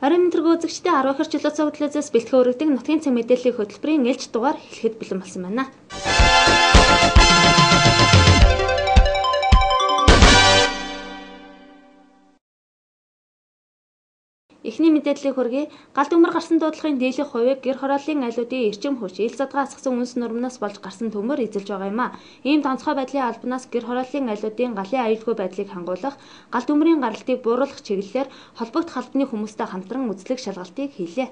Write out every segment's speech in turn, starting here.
Орон нутгийн үзэгчдээ 10 их чөлөө цогцлоозоос бэлтгэн өргөдөг нутгийн цэг мэдээллийн хөтөлбөрийн ээлж дугаар хэлэхэд бэлэн болсон байна. Эхний мэдээллийг хүргэе. Галт өмөр гарсан дуудлагын дийлэх хувийг гэр хорооллын айлуудын эрчим хүч, ил задгаа асгасан үнс нурмнаас болж гарсан төмөр эзэлж байгаа юм а. Ийм тонцгой байдлын албанаас гэр хорооллын айлуудын галын аюулгүй байдлыг хангуулах, галт өмрийн гаралтыг бууруулах чиглэлээр холбогдох албаны хүмүүстэй хамтран үзлэг шалгалтыг хийлээ.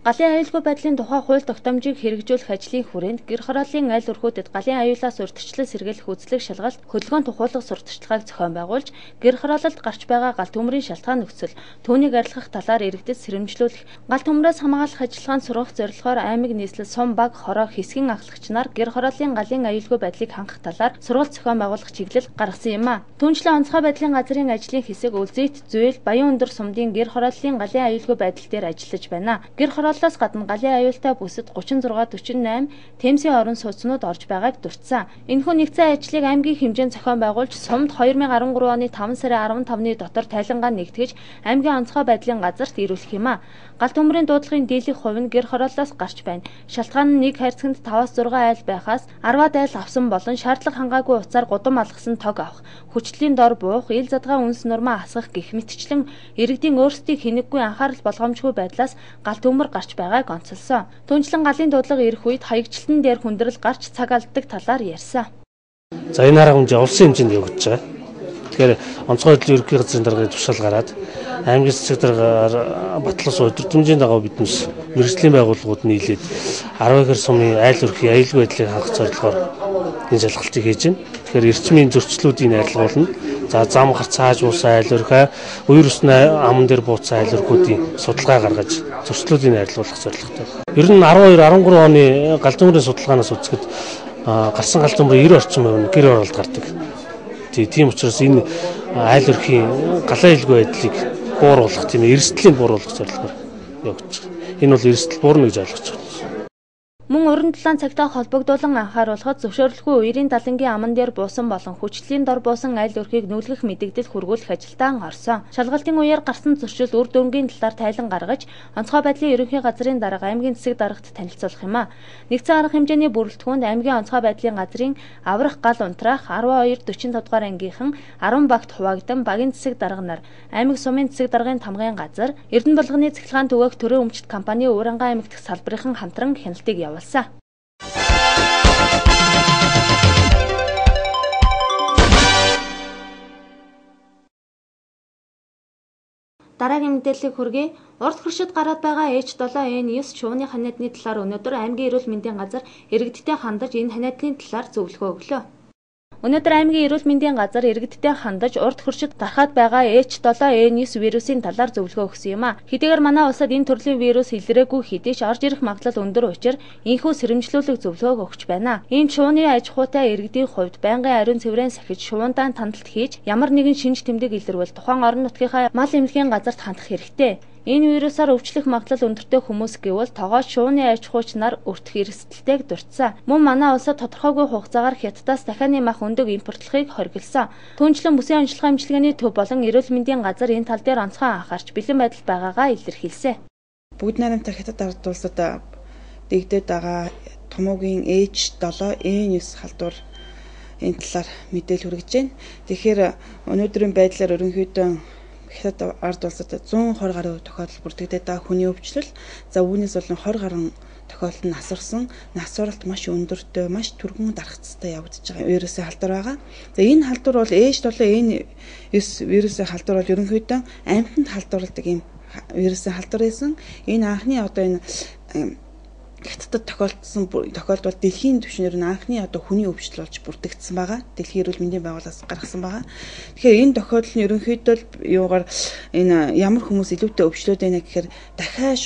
Галын аюулгүй байдлын тухай хууль тогтоомжийг хэрэгжүүлэх ажлын хүрээнд гэр хорооллын айл өрхүүдэд галын аюулаас урьдчилан сэргийлэх үзлэг шалгалт хөдөлгөөн тухайлах сурталчилгааг зохион байгуулж, гэр хороололд гарч байгаа галт төмрийн шалтгаан нөхцөл, түүнийг арилгах талаар иргэдэд сэрэмжлүүлэх, галт төмрөөс хамгаалах ажиллагаанд сургах зорилгоор аймаг нийслэл сум баг хороо хэсгийн ахлагч нар гэр хорооллын галын аюулгүй байдлыг хангах талаар сургалт зохион байгуулах чиглэл гаргасан юм а. Түүнчлэн онцгой байдлын газрын ажлын хэсэг Үлзийт, Зөөл, Баян өндөр сумдын гэр хорооллын галын аюулгүй байдал дээр ажиллаж байна. Гэр хорооллоос гадна галын аюултай бүсэд 36-48 Темсийн орон сууцнууд орж байгааг дурдсан. Энэхүү нэгдсэн ажлыг аймгийн хэмжээнд зохион байгуулж, сумд 2013 оны 5 сарын 15-ны дотор тайлангаа нэгтгэж, аймгийн онцгой байдлын газарт ирүүлэх юм а. Галт төмрийн дуудлагын дийлэх хувь нь гэр хорооллоос гарч байна. Шалтгаан нь нэг хайрцагт 5-6 айл байхаас 10 айл авсан болон шаардлага хангаагүй утсаар гудам алгасан тог авах, хүчлийн дор буух, ил задгаа үнс нурмаа асгах гэх мэтчлэн иргэдийн өөрсдийг хэнэггүй анхаарал болгоомжгүй байдлаас галт төмөр гарч байгааг онцолсон. Түүнчлэн галын дуудлага ирэх үед хаягчлалтын дээр хүндрэл гарч цаг алддаг талаар ярьсан. За энэ арга хэмжээ улсын хэмжээнд явагдаж байгаа. Тэгэхээр онцгой байдлын ерөнхий газрын дарганы тушаал гараад аймгийн цэцэг даргаар батлаас өдөртөмжийн дагуу биднээс мэргэжлийн байгууллагууд нийлээд 10 их сумын айл өрхийн аюулгүй байдлыг хангах зорилгоор энэ шалгалтыг хийж байна. Тэгэхээр эрчмийн зөрчлүүдийг арилгуулна. За зам гарц хааж буусан айл өрхөө, үер усны аман дээр бууцсан айл өрхүүдийн судалгаа гаргаж зөрчлүүдийг арилгуулах зорилготой. Ер нь 12-13 оны галт төмрийн судалгаанаас үзэхэд гарсан галт төмрийн 90 орчим хувь нь гэр оролд гардаг. Тийм учраас энэ айл өрхийн галын аюулгүй байдлыг бууруулах, тийм эрсдлийг бууруулах зорилгоор явагдаж байна. Энэ бол эрсдэл буурна гэж ойлгож байна. Мөн уран дулаан цагтаа холбогдуулан анхааруулахад зөвшөөрлгүй үерийн далангийн аман дээр буусан болон хүчлийн дор буусан айл өрхийг нүүлгэх мэдэгдэл хүргүүлэх ажилдаа орсон. Шалгалтын үеэр гарсан зөрчил үр дүнгийн талаар тайлан гаргаж, онцгой байдлын ерөнхий газрын дарга аймгийн цэцэг даргад танилцуулах юм а. Нэгдсэн арга хэмжээний бүрэлдэхүүнд аймгийн онцгой байдлын газрын аврах гал унтраах 12-45 дугаар ангийнхан 10 багт хуваагдан багийн цэцэг дарга нар, аймаг сумын цэцэг даргын тамгын газар, Эрдэнэ булганы цэцгэлгаан түгээх төрийн өмчт компани Уурангай аймаг дахь салбарын хамтран хяналтыг явуулсан. Дараагийн мэдээллийг хүргэе. Урд хөршид гараад байгаа H7N9 шувууны ханиадны талаар өнөөдөр аймгийн эрүүл мэндийн газар иргэдтэй хандаж энэ ханиадны талаар зөвлөгөө өглөө. Өнөөдөр аймгийн эрүүл мэндийн газар иргэдтэй хандаж урд хөршид гарахад байгаа H7N9 вирусын талаар зөвлөгөө өгсөн юм а. Хэдийгээр манай улсад энэ төрлийн вирус илрээгүй хэдий ч орж ирэх магадлал өндөр учраа энэхүү сэрэмжлүүлэг зөвлөгөөг өгч байна. Ийм шувууны аж ахуйтай иргэдийн хувьд байнгын ариун цэврэн сахиж шувуундаа тандалт хийж ямар нэгэн шинж тэмдэг илэрвэл тухайн орон нутгийнхаа мал эмнэлгийн газарт хандах хэрэгтэй. Энэ вирусаар өвчлөх магадлал өндөртэй хүмүүс гэвэл тогооч шувууны аж ахуйч нар өртөх эрсдэлтэйг дурдсан. Мөн манай улсад тодорхойгүй хугацаагаар Хятадаас дахианы мах өндөг импортлохыг хориглосон. Түүнчлэн бүсийн онцлогын эмчилгээний төв болон эрүүл мэндийн газар энэ тал дээр онцгой анхаарч бэлэн байдал байгаагаа илэрхийлсэн. Бүгд найрамдах Хятад ард улсад дэгдээд байгаа томоогийн H7N9 халдвар энэ талаар мэдээлэл хүргэж байна. Тэгэхээр өнөөдрийн байдлаар ерөнхийдөө Хятад ард улсад 120 гаруй тохиолдол бүрдэгдээд байгаа хүний өвчлөл. За үүнээс болон 20 гаруй тохиолдол нь насварсан, насваралт маш өндөртэй, маш түргэн дарахцтай явагдаж байгаа вирусын халдвар байгаа. За энэ халдвар бол H7N9 вирусын халдвар бол ерөнхийдөө амьтанд халдварладаг юм вирусын халдвар байсан. Энэ анхны энэ Хятадд тохиолдол дэлхийн түвшинээр анхны хүний өвчлөл болж бүрдэгдсэн байгаа. Дэлхийн эрүүл мэндийн байгууллагаас гаргасан байгаа. Тэгэхээр энэ тохиолдол нь ерөнхийдөө юугаар энэ ямар хүмүүс илүүтэй өвчлөөд байна гэхээр дахиад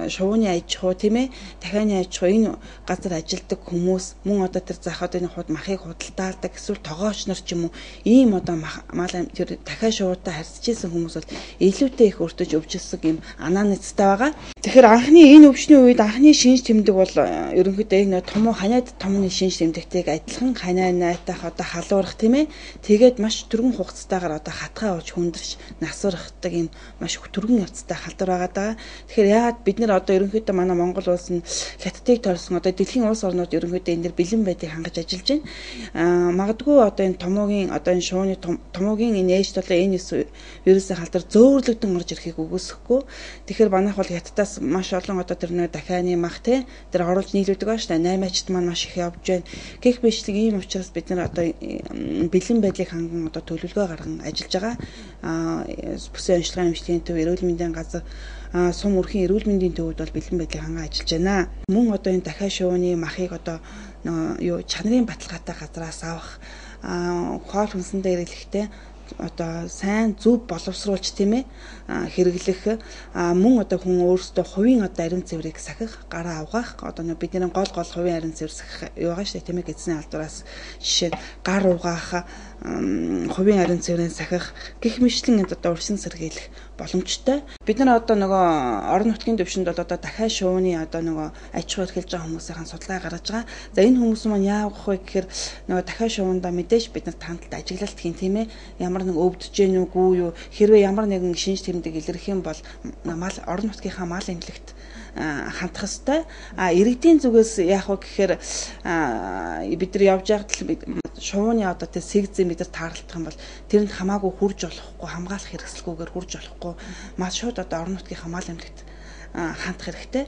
шувууны аж ахуй тийм ээ, дахианы аж ахуй энэ газар ажилладаг хүмүүс мөн тэр захад энэ махыг худалдаалдаг эсвэл тогооч нар ч юм уу ийм мал дахиад шувуутай харьцаж исэн хүмүүс бол илүүтэй их өртөж өвжилсэн юм анааны цэцтэй байгаа. Тэгэхээр анхны энэ өвчний үед анхны шинж тэмдэг бол ерөнхийдөө энэ том ханиад томны шинж тэмдэгтэйг адилхан ханаа найтах одоо халуурах тийм ээ. Тэгээд маш түргэн хугацаатаагаар одоо хатгаа ууж хүндэрч насвархдаг юм маш түргэн явцтай халдвар байгаа даа. Тэгэхээр яагаад бид нэр одоо ерөнхийдөө манай Монгол улс нь хятадыг тойрсон одоо дэлхийн улс орнууд ерөнхийдөө энэ дэр бэлэн байдлыг хангаж ажиллаж байна. Магадгүй одоо энэ томоогийн одоо энэ шууны томоогийн энэ ээж толоо энэ вирусын халдвар зөөлөгдөн орж ирэхийг үгүйсэхгүй. Тэгэхээр манайх бол хятадаас маш олон одоо тэр нэг дахианы мах те тэр оруулж нийлүүлдэг ба штэ 8-ачд маань маш их явж байна. Гэх мэтлэг ийм учраас бид нар одоо бэлэн байдлыг ханган одоо төлөвлөгөө гарган ажиллаж байгаа. Бүсийн онцлогын эмчилгээний төв эрүүл мэндийн газар сум өрхийн эрүүл мэндийн төвүүд бол бэлэн байдлыг ханган ажиллаж байна. Мөн одоо энэ дахиад шууны махыг одоо юу чанарын баталгаатай газраас авах хоол хүнсэндээ хэрэглэхдээ одоо сайн зөв боловсруулж тийм ээ хэрэглэх мөн одоо хүн өөрсдөө хувийн одоо ариун цэврийг сахих гараа угаах одоо бидний гол хувийн ариун цэвэр сахих юугаа штэ тийм ээ эзний алдуураас жишээ гар угаах хувийн ариун цэврийн сахих гэх мэтлэн одоо урьдчилан сэргийлэх боломжтой. Бид нар одоо нөгөө орон нутгийн төвшөнд бол одоо дахиад шууны одоо нөгөө аж ахуй эрхэлж байгаа хүмүүсийн судалгаа гаргаж байгаа. За энэ хүмүүс маань яавах вэ гэхээр нөгөө дахиад шуунда мэдээж бид нар тандалд ажиглалт хийн тийм ээ. Ямар нэг өвдөж гэнэ үгүй юу хэрвээ ямар нэгэн шинж тэмдэг илэрх юм бол мал орон нутгийнхаа мал эмнэлэгт хандах ёстой. Иргэдийн зүгээс яах вэ гэхээр бид нар явж байгаад шууны одоо тэ сэгзээ бид нар таарлах юм бол тэрэнд хамаагүй хурж болохгүй хамгаалах хэрэгсэлгүйгээр хурж болохгүй маш шууд одоо орон нутгийн мал эмнэлэгт хандах хэрэгтэй.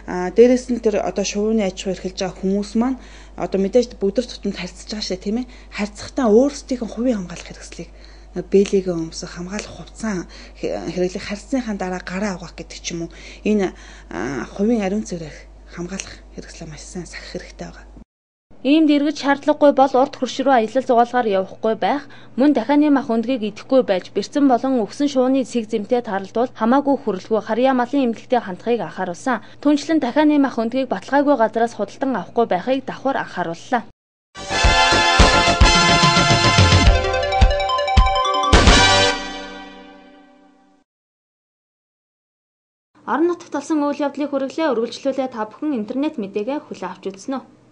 Дээрээс нь тэр одоо шууны аж ахуй эрхэлж байгаа хүмүүс маань одоо мэдээж бүгд тутамд харьцаж байгаа шээ тийм ээ. Харьцахтаа өөрсдийнхөө хувийн хамгаалах хэрэгслийг бэлэгээ өмсөх хамгаалах хувцас хэрэглэх харьцсныхаа дараа гараа угаах гэдэг ч юм уу энэ хувийн ариун цэврээр хамгаалах хэрэгслээ маш сайн сахих хэрэгтэй байгаа. Иймд эргэж шаардлагагүй бол урд хөрш рүү аялал зугаалгаар явахгүй байх, мөн дахианы мах өндгийг идэхгүй байж бэрцэн болон өгсөн шууны сэг зэмтэй тааралдвал хамаагүй хүрэлгүй харьяа малын эмнэлэгтээ хандахыг анхааруулсан. Түүнчлэн дахианы мах өндгийг баталгаагүй газраас худалдан авахгүй байхыг давхар анхаарууллаа. Орон нутагт болсон үйл явдлыг хүргэлээ үргэлжлүүлээ та бүхэн интернет мэдээгээ хүлээн авч үзсэн үү?